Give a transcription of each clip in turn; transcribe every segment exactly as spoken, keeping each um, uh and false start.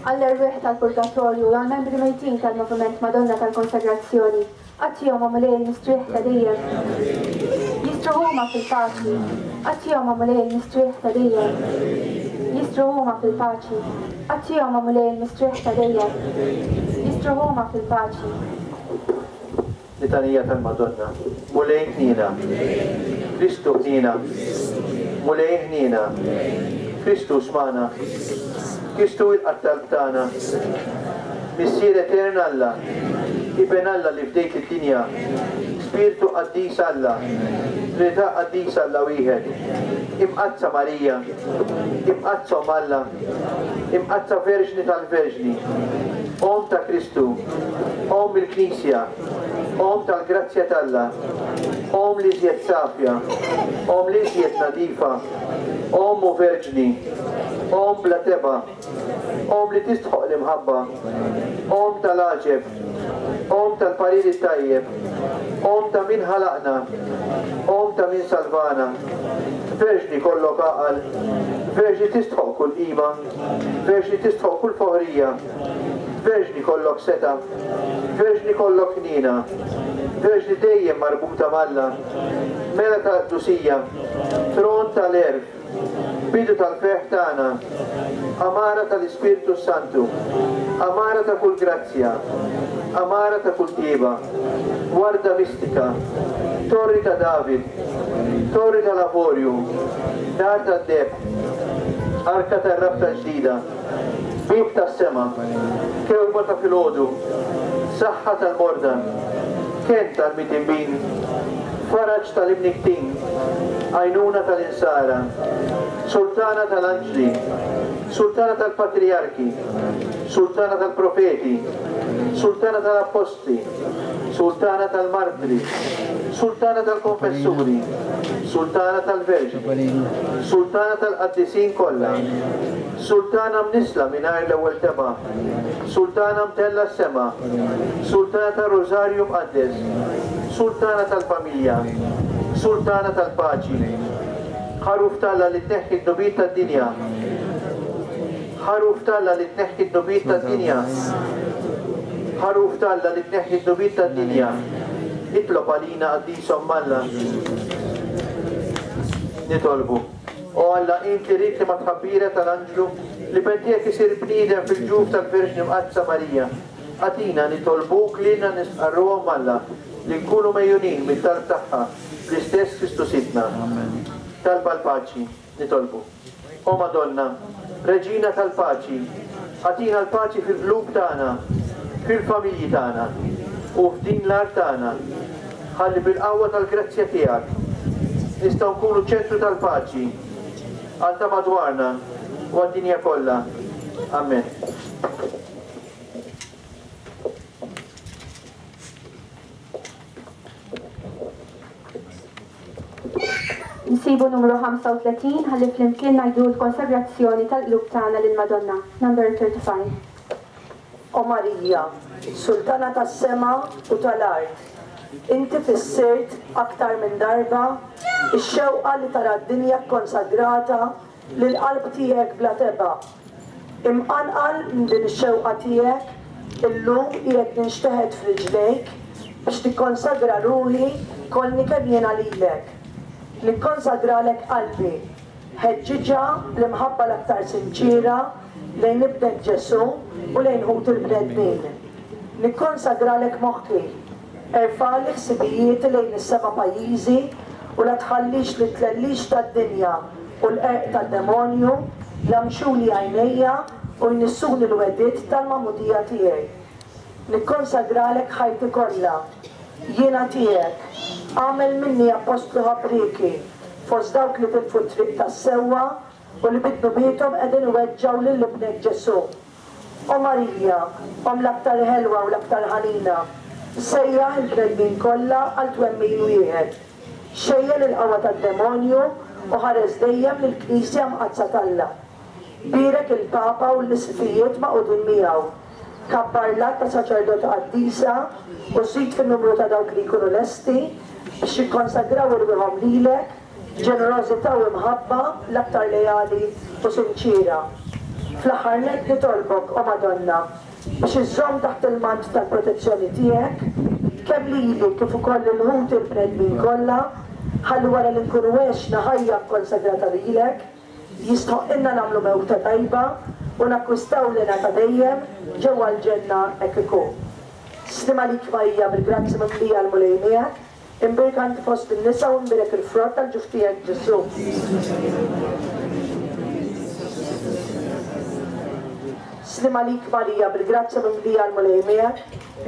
Għall-erwieħ tal-Purgatorju u għall-membri mejtin tal-Moviment Madonna tal-Konsagrazzjoni, agħtihom, o Mulej, il-mistrieħ ta' dejjem. Jistrieħu huma fil-paċi, agħtihom, o Mulej, il-mistrieħ ta' dejjem. Jistrieħu huma fil-paċi, agħtihom, o Mulej, il-mistrieħ ta' dejjem. Jistrieħu huma fil-paċi. Litanija tal-Madonna. Mulej ħniena. Kristu ħniena. Mulej ħniena. Kristu smagħna. Kristu ilqa' t-talb tagħna. Missier etern Alla, Iben Alla li fdejt id-dinja, Spirtu Qaddis Alla, Trinità Qaddis Alla wieħed, Imqaddsa Marija, Imqaddsa Omm Alla, Imqaddsa Verġni tal-Verġni, Omm ta' Kristu, Omm il-Knisja, Omm tal-Grazzja t'Alla, Omm l-iżjed safja, Omm l-iżjed nadifa, Omm u Verġni, Omm bla tebgħa, Omm li tistħoq l-imħabba, Omm tal-għaġeb, Omm tal-parir it-tajjeb, Omm ta' min ħalaqna, Omm ta' min salvana, Verġni kollok għaqal, Verġni tistħoq kull qima, Verġni tistħoq kull foħrija, Verġni kollok setgħa, Verġni kollok ħniena, Verġni dejjem marbuta m'Alla, Mela tal-qdusija, Tron tal-għerf, Bidu tal-ferħ tagħna, Għamara tal-Ispirtu Santu, Għamara ta' kull grazzja, Għamara ta' kull tjieba, Warda mistika, Torri ta' David, Torri tal-Avorju, Dar tad-Deheb, Arka tar-Rabta l-Ġdida, Bieb tas-Sema, Kewba ta' filgħodu, Saħħa tal-morda, Kenn tal-midinbin, Faraġ tal-imnikktin, Għajnuna tal-insara, Sultana tal-anġli, Sultana tal-patrijarki, Sultana tal-profeti, Sultana tal-appostli, Sultana tal-martri, Sultana tal-konfessuri, Sultana tal-Verġni, Sultana tal-qaddisin kollha, Sultana mnissla mingħajr l-ewwel tebgħa, Sultana mtellgħa s-sema, Sultana tar-Rożarju Mqaddes, Sultana tal-familja, Sultana tal-paċi, Ħaruf t'Alla li tneħħi d-dnubiet tad-dinja, Ħaruf t'Alla li tneħħi d-dnubiet tad-dinja, Ħaruf t'Alla li tneħħi d-dnubiet tad-dinja, itlob għalina Qaddisa Omm Alla. Nitolbu. O Alla, int li ridt li mat-tħabbira tal-anġlu l-Iben tiegħek isir bniedem fil-ġuf tal-Verġni Mqaddsa Marija, agħtina nitolbuk lilna nistqarru Omm Alla li nkunu megħjunin mit-talb tagħha bl-istess Kristu Sidna. Talba għall-paċi. Nitolbu. O Madonna, Reġina tal-paċi, agħtina l-paċi fil-qlub tagħna, fil-familji tagħna u f'din l-art tagħna. Ħalli bil-qawwa tal-grazzja tiegħek nistgħu nkunu ċentru tal-paċi għal ta' madwarna u għad-dinja kollha. Amen. Nsibu numru ħamsa u tletin ħalli flimkien ngħidu l-konsagrazzjoni tal-qlub tagħna lill-Madonna. Number thirty-five. O Marija, Sultana tas-sema u tal-art, inti fissirt aktar minn darba ix-xewqa li tara d-dinja kkonsagrata lill-qalb tiegħek bla tebgħa. Imqanqal minn din ix-xewqa tiegħek, illum qiegħed ninxteħet f'riġlejk biex tikkonsagra ruħi kollni kemm jiena lilek. Nikkonsagralek qalbi, ħeġġiġha bl-imħabba l-aktar sinċiera lejn ibnek Ġesù u lejn ħut il-bnedmin. Nikkonsagralek moħħi, erfali ħsibijieti lejn is-seba' pajjiżi u la tħallix li tlellix tad-dinja u l-qerq tad-demonju jagħmxuli għajnejja u jnissuni l-wedid tal-magħmudija tiegħi. Nikkonsagralek ħajti kollha, jiena tiegħek, agħmel minni appostlu ħabrieki fost dawk li tilfu t-triq tas-sewwa u li bid-dnubiethom qegħdin iweġġgħu lil ibnek Ġesù. O Marija, Omm l-aktar ħelwa u l-aktar ħanina, sejjaħ il-bnedmin kollha għal twemmin wieħed. Xejjen il-qawwa tad-demonju u ħares dejjem lill-Knisja Mqaddsa t'Alla. Bierek il-Papa u l-isqfijiet magħqudin miegħu. Kabbar l-għadd ta' saċerdoti qaddisa u żid fin-numru ta' dawk li jkunu lesti biex jikkonsagraw irwieħhom lilek b'ġenerożità u imħabba l-aktar leali u sinċiera. Fl-aħħar nett nitolbok, o Madonna, biex iżżomm taħt il-mant tal-protezzjoni tiegħek, kemm lili kif ukoll il-ħut il-bnedmin kollha, ħalli wara li nkunu għexna ħajja kkonsagrata lilek, jistħoqqilna nagħmlu mewta tajba u nakkwistaw lena ta' dejjem ġewwa l-ġenna hekk ikun. Sliem għalik Marija bil-grazzja mimlija l-Mulej miegħek, imbierka inti fost in-nisa u imbierek il-frott tal-ġuf tiegħek Ġesù. Sliem għalik Marija bil-grazzja mimlija l-Mulej miegħek,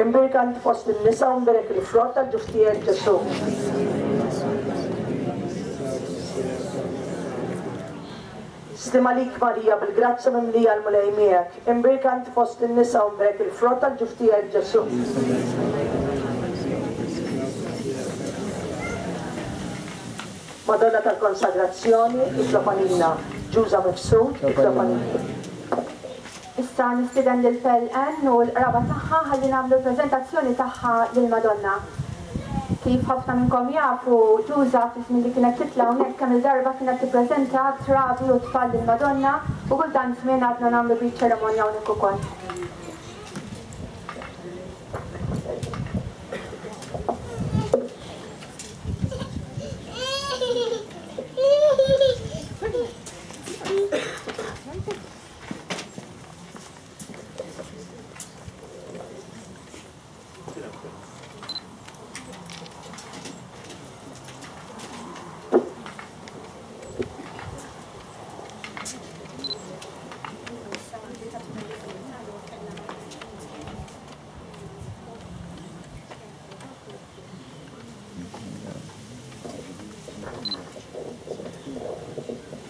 imbierka inti fost in-nisa u imbierek il-frott tal-ġuf tiegħek Ġesù. Sliem għalik Marija bil-grazzja mimlija l-Mulej miegħek, imbierka inti fost in-nisa u imbierek il-frott tal-ġuf tiegħek Ġesù. Madonna tal-Konsagrazzjoni, itlob għalina. Ġuża Mifsud, itlob għalina. Issa nistieden lil Pearl Ann u l-qraba tagħha ħalli nagħmlu l-preżentazzjoni tagħha lil Madonna. Kif ħafna minnkom jafu, Ġuża fi żmien li kienet titla' hawnhekk kemm il-darba kienet tippreżenta trabi u tfal lil Madonna u kull dan żmien għadna nagħmlu bi ċerimonja hawnhekk ukoll.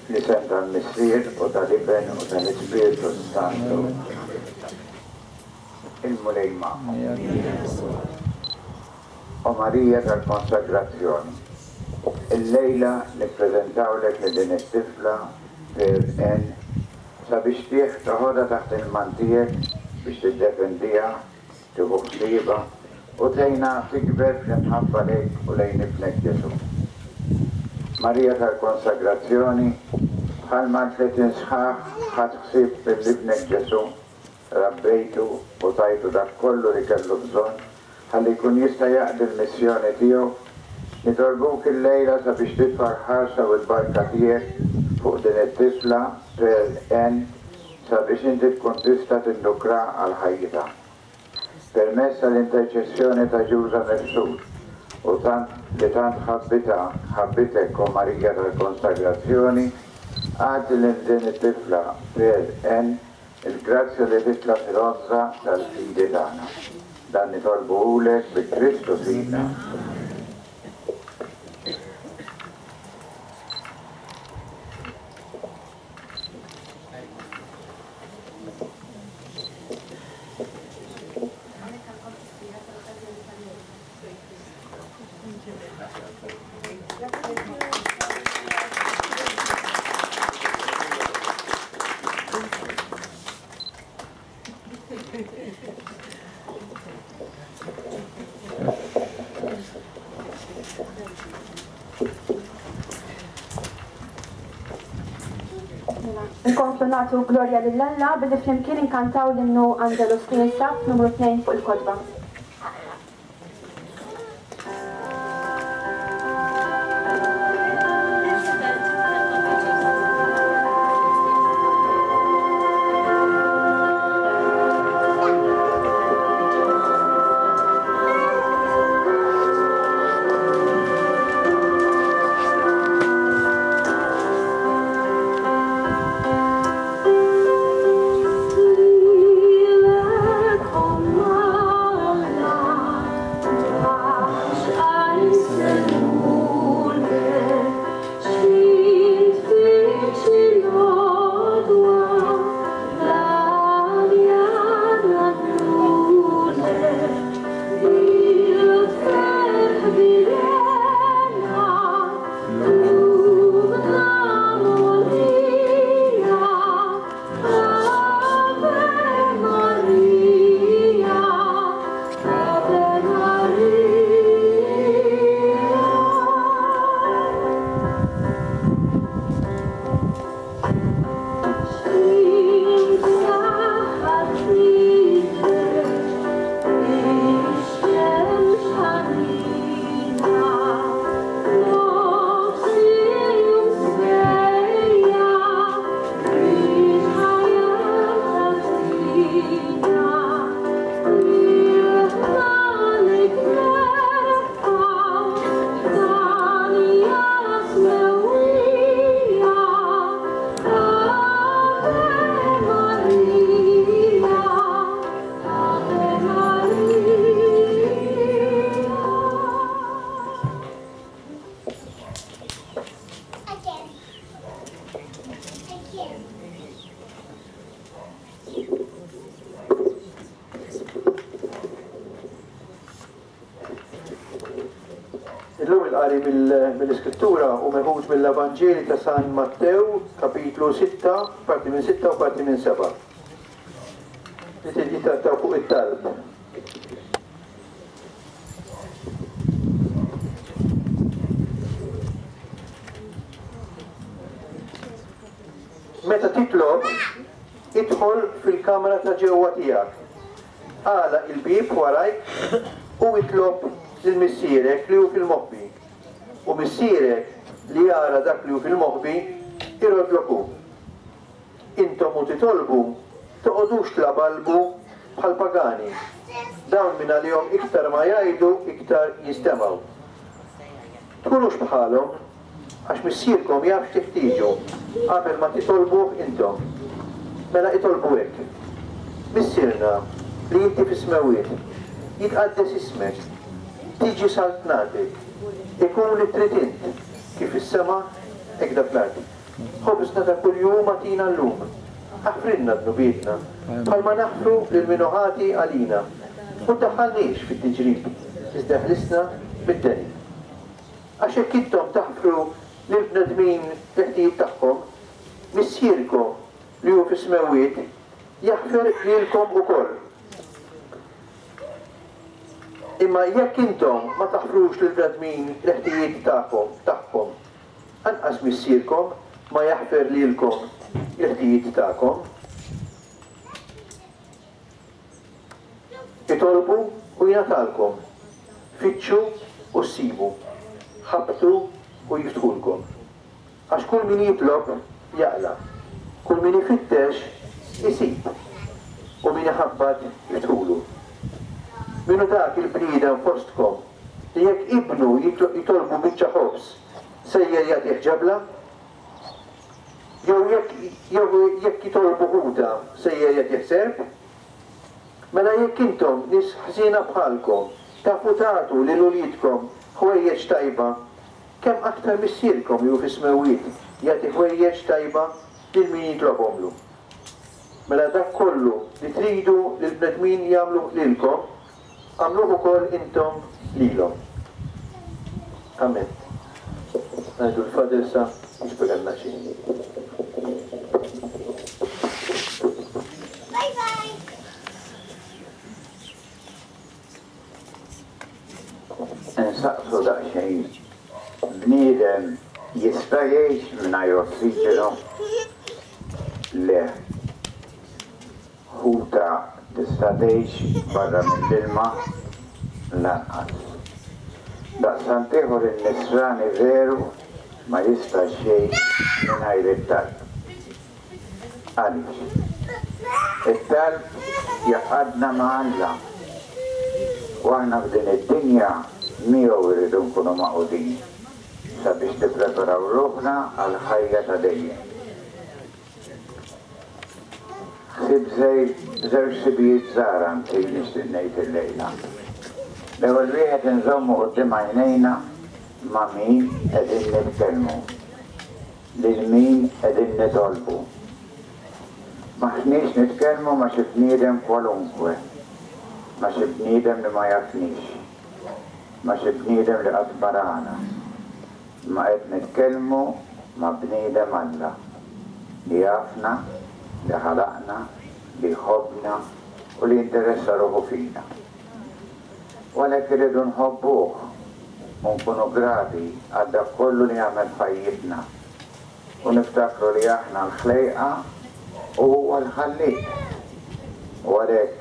L-isem tal-Missier u tal-Iben u tal-Ispirtu Santu. Il-Mulej magħkom. O Marija tal-Konsagrazzjoni, illejla nippreżentawlek lil din it-tifla Pearl Ann sabiex tieħ toħodha taħt il-man tiegħek biex tiddefendiha, tieħu ħsiebha u tgħinha tikber fl-imħabba lejk u lejn ibnek Ġesù. Marija tal-Konsagrazzjoni, bħalma tletin sħaħ ħadt ħsieb lil ibnek Ġesù, rabbejtu u tajtu dak kollu li kellu bżonn ħalli jkun jista' jaqdi l-missjoni tiegħu, nitolbuk illejla sabiex titfa' l-ħarsa u l-barka tiegħek fuq din it-tifla Pearl Ann sabiex inti tkun tista' tindukra għal ħajjitha. Permezz tal-interċessjoni ta' Ġuża Mifsud u tant li tant ħabbitha, ħabbitek o Marija tal-Konsagrazzjoni, agħti lil din it-tifla Pearl Ann il-grazzja li titla' fil-għożża tal-fidi tagħna. Dan nitolbuhulek bi Kristu Sidna. Nkomplu nagħtu glorja lil Alla billi flimkien inkantaw l-innu Angelus li jinsab numru tnejn fuq il-kotba. Lilek, O Il-qari mill-Iskrittura u meħud mill-Evanġeli ta' San Mattew, kapitlu sitta, parti minn sitta u parti minn seba'. Li titrattaw fuq it-talb. Meta titlob, idħol fil-kamra ta' ġewwa tiegħek. Għalaq il-bieb warajk u itlob lil missierek li hu fil-moħbi. U missierek li jara dak li hu fil-moħbi irodlok hu. Intom u titolbu, toqgħodux tlabalbu bħal pagani. Dawn minn għalihom iktar ma jgħidu iktar jistemgħu. Tkunux bħalhom, għax missierkom jaf x'teħtieġu qabel ma titolbuh intom. Mela itolbu hekk. Missierna li inti fis-smewwiet, jitqaddes ismek, tiġi saltnatek, ikun li trid int, kif is-sema hekk dak l-art. Ħobżna ta' kuljum agħtina llum. Aħfrilna dnubietna, bħalma naħfru lil min hu ħati għalina. U ddaħħalniex fit-tiġrib, iżda ħlisna mid-deni. Għax hekk intom taħfru lill-bnedmin l-ħtijiet tagħhom, missierkom li hu fis-smewwiet jaħfer lilkom ukoll. Imma jekk intom ma taħfrux lill-bnedmin l-ħtijiet tagħkom tagħhom, anqas missierkom ma jaħfer lilkom l-ħtijiet tagħkom. Itolbu u jingħatalkom, fittxu u ssibu, ħabtu u jiftħulkom. Għax kull min jitlob jaqla', kull min ifittex isib, u min iħabbat jiftħulu. Minu dak il-bniedem fostkom li jekk ibnu jitolbu biċċa ħobż sejjer jagħtih ġebla? Jew jekk jitolbu ħuta sejjer jagħtih serp? Mela jekk intom nies ħżiena bħalkom tafu tagħtu lil uliedkom ħwejjeġ tajba, kemm aktar missierkom li hu fis-smewwiet jagħti ħwejjeġ tajba lil min jitlobhomlu. Mela dak kollu li tridu li l-bnedmin jagħmlu lilkom, għamluh ukoll intom lilhom. Amen. Ngħidu l-Fader sa jispjegalna xi. Bye bye. Nsaqsu daqsxejn, bniedem jista' jgħix mingħajr ossiġenu? Le. Ħuta tista' tgħix barra mill-ilma? Lanqas. Daqstant ieħor in-nisrani veru ma jistax jgħix mingħajr it-talb. Għaliex? It-talb jaqgħadna ma' Alla. U aħna f'din id-dinja miegħu rridu nkunu magħqudin sabiex nippreparaw ruħna għal ħajja ta' dejjem. Ħsieb żewġ ħsibijiet żgħar anzi nixtieq ngħid illejla. L-ewwel wieħed inżommu quddiem għajnejna ma' min qegħdin nitkellmu, lil min qegħdin nitolbu. M'aħniex nitkellmu ma' xi bniedem kwalunkwe, ma' xi bniedem li ma jafniex, ma' xi bniedem li qatt barana, ma qed nitkellmu ma' bniedem Alla li jafna, li ħalaqna, li jħobbna u li jinteressa ruħu fina. U għalhekk irridu nħobbuh u nkunu grati għal dak kollu li għamel f'ħajjitna u niftakru li aħna l-ħlejqa u huwa l-ħalliq. U għalhekk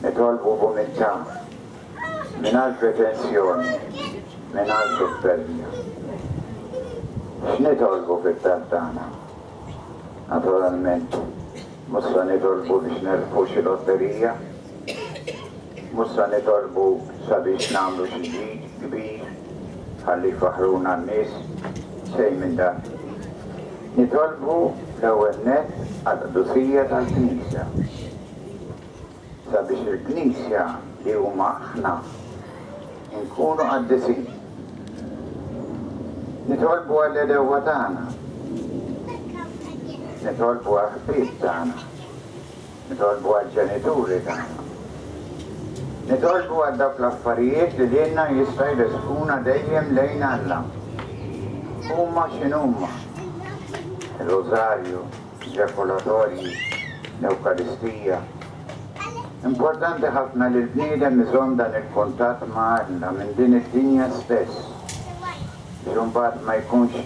nitolbu b'umiltà, mingħajr pretensjoni, mingħajr suppervja. X'nitolbu fit-talb tagħna? Naturalment, mhux se nitolbu biex nerbħu xi lotterija, mhux se nitolbu sabiex nagħmlu xi ġid kbir ħalli jfaħruna n-nies, xejn minn dan. Nitolbu l-ewwel nett għall-qdusija tal-Knisja, sabiex il-Knisja li huma aħna nkunu qaddisin. Nitolbu għall-għedewwa tagħna, nitolbu għall-ħbieb tagħna, nitolbu għall-ġenituri tagħna, Nitolbu għal dawk l-affarijiet li lilna jista' jressquna dejjem lejn Alla. Huma x'inhuma? Il-Rożarju, ġakulatorji, l-Ewkaristija. Importanti ħafna li l-bniedem iżomm dan il-kuntatt ma' Alla minn din id-dinja stess, biex imbagħad ma jkunx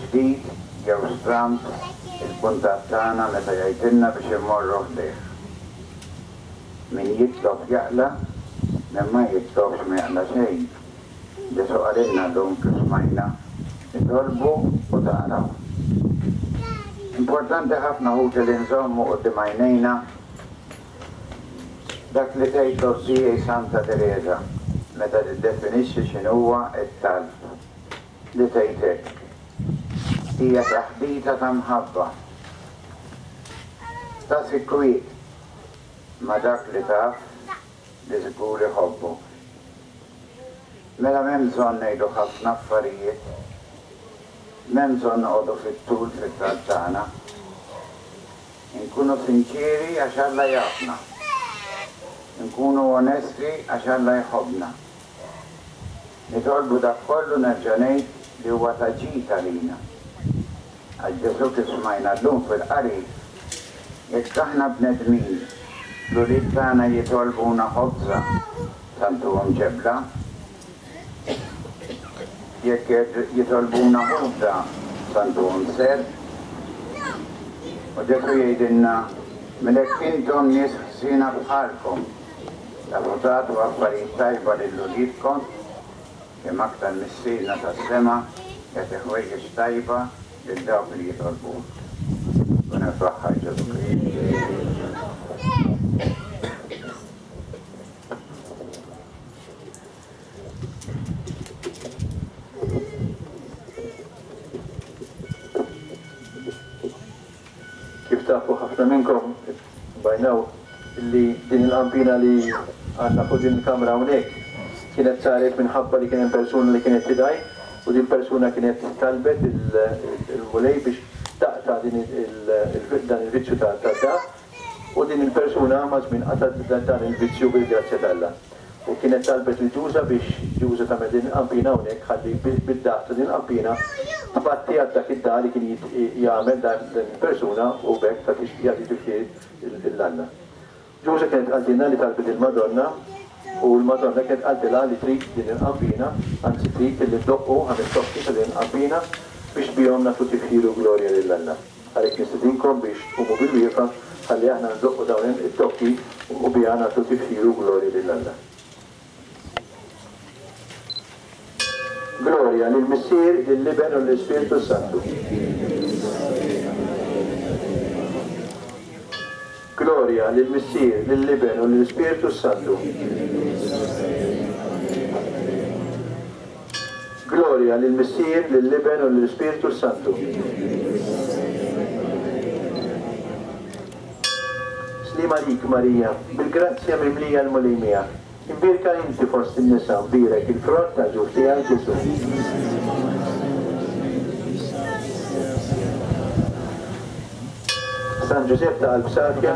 ġdid jew stramb il-kuntatt tagħna meta jgħidilna biex immorru ħdejh. Min jitlob jaqla, min ma jitlobx ma jaqla xejn. Ġesù qalilna llum kif smajna, itolbu u taqraw. Importanti ħafna ħuti li nżommu quddiem għajnejna dak li tgħid l-Ozzija Santa Teresa meta tiddefinixxi x'inhuwa t-talb, li tgħid hekk: hija taħdita ta' mħabba, ta' sikwiet ma' dak li taf li żgur iħobbok. Mela m'hemm bżonn ngħidu ħafna affarijiet, m'hemm bżonn noqogħdu fit-tul fit-talb tagħna. Inkunu sinċieri għax Alla jafna. Nkunu onesti għax Alla jħobbna. Nitolbu dak kollu nerġa' ngħid li huwa ta' ġid għalina. Għal Ġesù kif smajna llum fil-qari, jekk aħna bnedmin, l-ulied tagħna jitolbuna ħobża, tantuhom ġebla. Jekk jitolbuna ħobża, tantuhom serp. U Ġesù jgħidilna, mela jekk intom nies ħsiena bħalkom, tafu tagħtu affarijiet tajba lil uliedkom, kemm aktar Missierna tas-sema jagħti ħwejjeġ tajba lil dawk li jitolbuh. Kun infaħħar Ġesù Kristu. Kif tafu ħafna minnkom bajnaw li din il-qampina li għandna fuq din il-kamra hawnhekk kienet saret minħabba li kien hemm persuna li kienet tidaj, u din persuna kienet talbet il-Mulej biex taqta' dan il-vizzju ta' da, u din il-persuna ma' żmien qatgħet dan il-vizzju bil-grazzja t'Alla. U kienet talbet lil Ġuża biex Ġuża tagħmel din il-qampina hawnhekk ħalli bid-daq ta' din il-qampina tbatti għal dak id-da li kien jagħmel dan il-persuna u b'hekk tagħti jagħti tifħir lil Alla. Ġuża kienet qaltilna li talbet il-Madonna, u l-Madonna kienet qaltilha li trid din il-qampina, anzi trid li ddoqqu ħames tokki ta' din il-qampina biex bihom nagħtu tifħir u glorja lil Alla. Għalhekk nistedinkom biex tqumu bil-wieqfa ħalli aħna ndoqqu dawn it-tokki u biha nagħtu tifħir u glorja lil Alla. Gloria lill-Missier, lill-Iben u lill-Ispirtu Santu. Gloria lill-Missier, lill-Iben u lill-Ispirtu Santu. Gloria lill-Missier, lill-Iben u lill-Ispirtu Santu. Slima lik Marija, bil-grazzja mimlija l-Mulej miegħek. Imbierka inti fost in-nisa, mbierek il-frott tal-ġuf tiegħek Ġesù. San Ġużepp ta' qalb safja,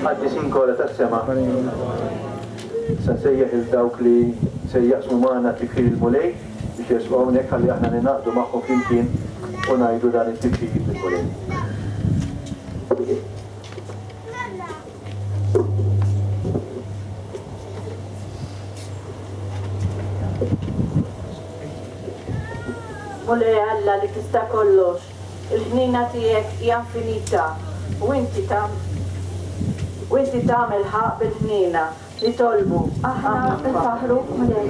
qaddisin kollha tas-sema, sa nsejjaħ il dawk li se jaqsmu magħna tifħir il-Mulej biex jersqu hawnhekk ħalli aħna ningħaqdu magħhom flimkien u ngħidu dan it-tifħir lill-Mulej. Mulej Alla li tista' kollox, il-ħnina tiegħek hija infinita u inti u inti tagħmel ħaqq bil-ħnina. Nitolbu. Aħna nfaħru Mulej.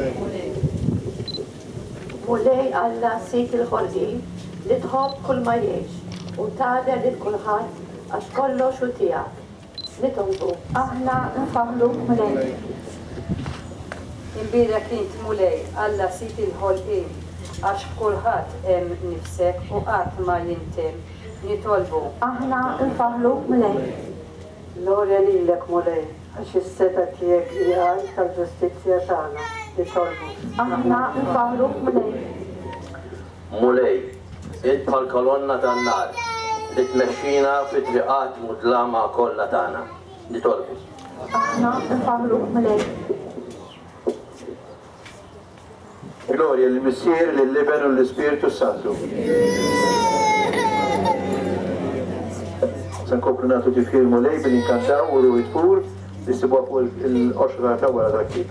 Mulej Alla sid il-ħolqien li tħobb kull ma jgħix u tagħder lil kulħadd għax kollox hu tiegħek. Nitolbu. Aħna nfaħru Mulej. Imbierek int Mulej Alla sid il-ħolqien għax f'kulħadd hemm nifsek u qatt ma jintemm. Nitolbu. Aħna nfaħru Mulej. Glorja lilek Mulej, għax is-setgħa tiegħek hi għal tal-ġustizzja tagħna. Nitolbu. Aħna nfaħru Mulej. Mulej, int bħal kolonna tan-nar li tmexxina fi triqat mudlama kollha tagħna. Nitolbu. Aħna nfaħru Mulej. Gloria lill-Missier, lill-Iben u l-Ispirtu Santu. Se nkomplu nagħtu tifħir Mulej billi nkantaw u ruħi tfur li ssibuha fuq il-qoxra ta' wara tal-ktieb.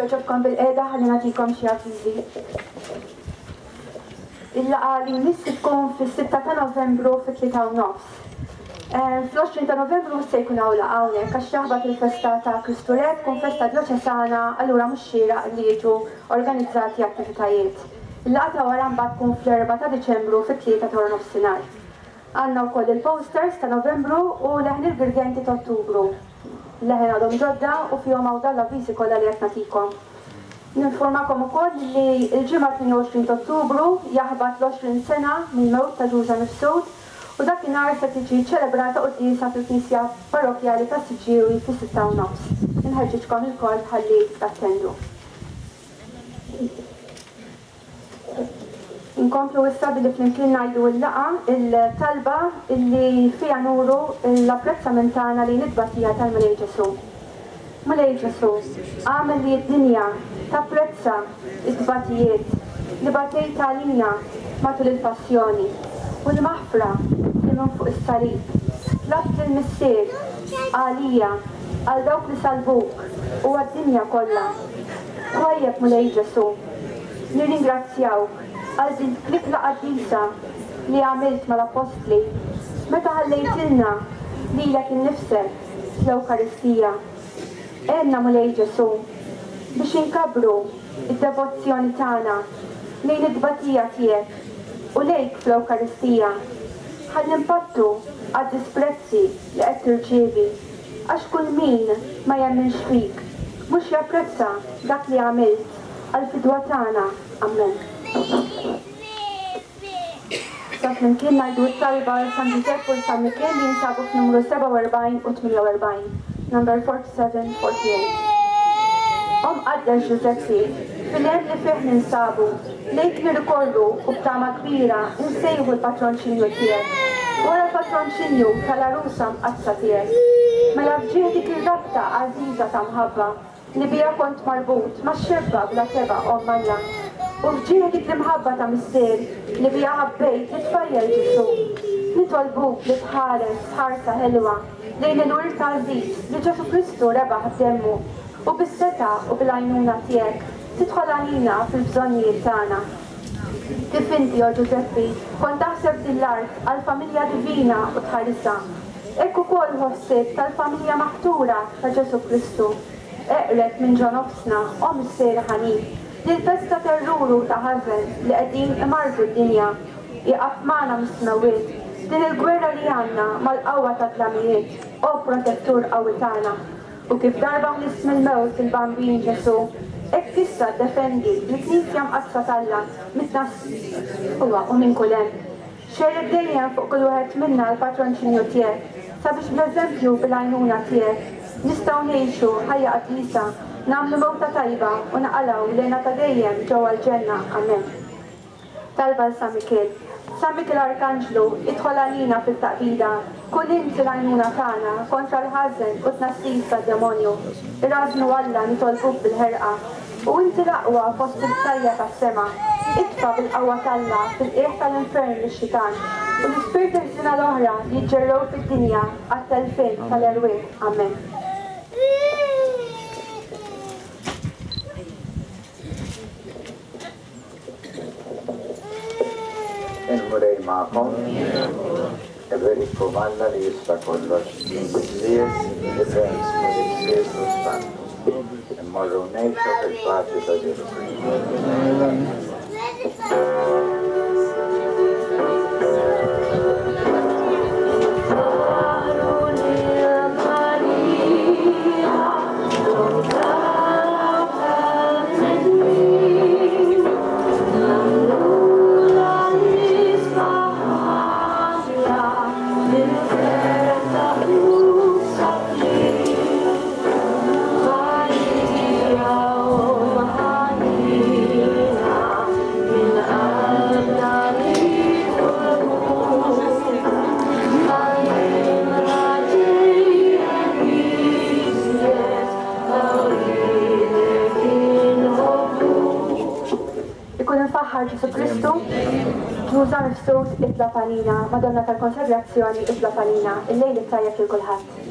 Joġobkom bil-qeda ħalli nagħtikom xi avviżi. Il-laqgħa li jmiss tkun fis-sitta ta' Novembru fit-tlieta u nofs. Fl-għoxrin ta' Novembru se jkun hawn laqgħa hawnhekk għax jaħbat il-festa ta' Kristu Re, tkun festa djoċesana, allura mhux xieraq li jiġu organizzati attivitajiet. Il-laqgħa ta' wara mbagħad tkun fl-erbgħa ta' Diċembru fit-tlieta ta' nofsinhar. Għandna wkoll il-posters ta' Novembru u leħen il-Girgenti ta' Ottubru. Leħen għadhom ġodda u fihom hawn dawn l-avviżi kollha li qed nagħtikom. Ninformakom ukoll li l-ġimgħa tmien u għoxrin ta' Ottubru jaħbat l-għoxrin sena mill-mewt ta' Ġuża Mifsud u dakinhar se tiġi ċelebrata quddiesa fil-Knisja Parrokkjali tas-Siġġiewi fis-sitta u nofs. Inħeġġiġkom ilkoll ħalli tattendu. Inkomplu issa billi flimkien ngħidu l-laqgħa, il-talba illi fiha nuru l-apprezzament tagħna lejn it-tbatija tal-Mulej Ġesù. Mulej Ġesù, għamel li d-dinja tapprezza t-tbatijiet li batejt għalina matul il-passjoni u l-maħfra li minn fuq is-salib tlabt lill-Missier għalija, għal dawk li salbuk u għad-dinja kollha. Twajjeb Mulej Ġesù, nirringrazzjawk għal din l-ikla qaddisa li għamilt mal-Appostli meta ħallejtilna lilek innifsek fl-Ewkaristija. Għenna Mulej Ġesù biex inkabbru id-devozzjoni tagħna lejn it-tbatija tiegħek u lejk fl-Ewkaristija. Ħalli npattu għad-disprezzi li qed tirċievi, għax kull min ma jemminx fik mhux japprezza dak li għamilt għall-fidwa tagħna. Amen. Sa flimkien ngħidu t-talba għal San Ġużepp u San Mikiel li jinsabu f'numru sebgħa u erbgħin u tmienja u erbgħin, number forty-seven forty-eight. Om Qaddes Ġużeppi, fil-hemm li fih ninsabu, lejk nirrikorru u b'tama kbira nsejħu l-patronċinju tiegħek, wara l-patronċinju tal-għarusa mqaddsa tiegħek. Mela f'ġieħ dik ir-rabta għażiża ta' mħabba li biha kont marbut max-xebba bla teba' Omm Alla, u f'ġieħ dik l-imħabba ta' Missier li biha ħabbejt lit-tfajjel Ġesù, nitolbuk li tħares ħarsa ħelwa lejn il-wirt għażiż li Ġesù Kristu rebaħ b'demmu, u bis-setgħa u bil-għajnuna tiegħek tidħol għalina fil-bżonnijiet tagħna. Kif inti, o Ġużeppi, kont taħseb din l-art għall-familja divina u tħarisha, hekk ukoll hu ħsieb tal-familja maħtura ta' Ġesù Kristu. Eqreb minn ġo nofsna, o Missier ħanin, li l-festa terruru ta' ħażen li qegħdin imardu d-dinja, iqaf magħna mis-smewwiet din il-gwerra li għandna mal-qawwa tad-dlamijiet, o protettur qawwi tagħna. U kif darba ħlist mill-mewt il-Bambin Ġesù, hekk issa ddefendi l-Knisja mqaddsa t'Alla mit-tnassija u minn kull hemm. Xerred dejjem fuq kull wieħed minna l-patronċinju tiegħek, sabiex bl-eżempju bil-għajnuna tiegħek nistgħu ngħixu ħajja qaddisa, nagħmlu mewta tajba u naqalgħu lejna ta' dejjem ġewwa l-ġenna. Amen. Talba l San Mikiel. San Mikiel Arkanġlu, idħol għalina fil-taqbida, kun inti l-għajnuna tagħna kontra l-ħażen u t-tnassis tad-demonju. Irrażnu Alla nitolbuk bil-ħerqa, u inti l-aqwa fost il-btajja tas-sema. Itfa' bil-qawwa t'Alla fil-qiegħ tal-infern lix-xitan u l-ispirti ħżiena l-oħra li jiġġerrew fid-dinja għat-telfien tal-erwieħ. Amen. Il-Mulej magħkom, iberikkom Alla li jista' kollox, il-Missier, l-Iben u l-Ispirtu Santu. Immorru ngħixu fil-paċi ta' Ġesù Kristu. Ġesù Kristu, ġuża mifsud itla' għalina, Madonna tal-Konsagrazzjoni itla' għalina, il-lejl it-tajjeb lil kulħadd.